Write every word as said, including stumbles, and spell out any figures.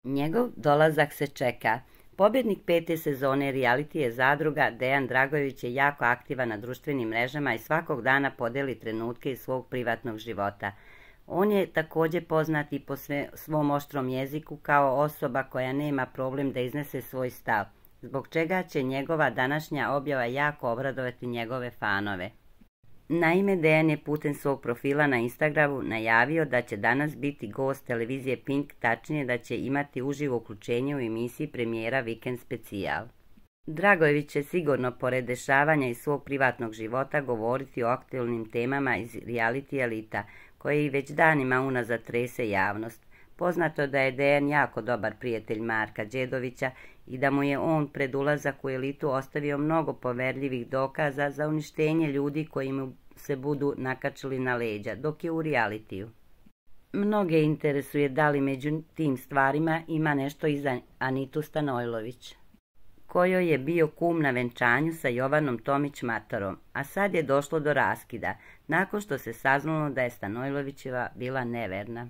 Njegov dolazak se čeka. Pobjednik pete sezone realitije Zadruga Dejan Dragojević je jako aktivan na društvenim mrežama i svakog dana podeli trenutke iz svog privatnog života. On je također poznat i po sve, svom oštrom jeziku kao osoba koja nema problem da iznese svoj stav, zbog čega će njegova današnja objava jako obradovati njegove fanove. Naime, Dejan je putem svog profila na Instagramu najavio da će danas biti gost televizije Pink, tačnije da će imati uživo uključenje u emisiji premijera Vikend specijal. Dragojević će sigurno, pored dešavanja iz svog privatnog života, govoriti o aktualnim temama iz reality elita, koje i već danima unazad trese javnost. Poznato da je Dejan jako dobar prijatelj Marka Đedovića i da mu je on pred ulazak u elitu ostavio mnogo poverljivih dokaza za uništenje ljudi koji mu se budu nakačili na leđa, dok je u realitiju. Mnoge interesuje da li među tim stvarima ima nešto i za Anitu Stanojlović, kojoj je bio kum na venčanju sa Jovanom Tomić-Matorom, a sad je došlo do raskida, nakon što se saznalo da je Stanojlovićeva bila neverna.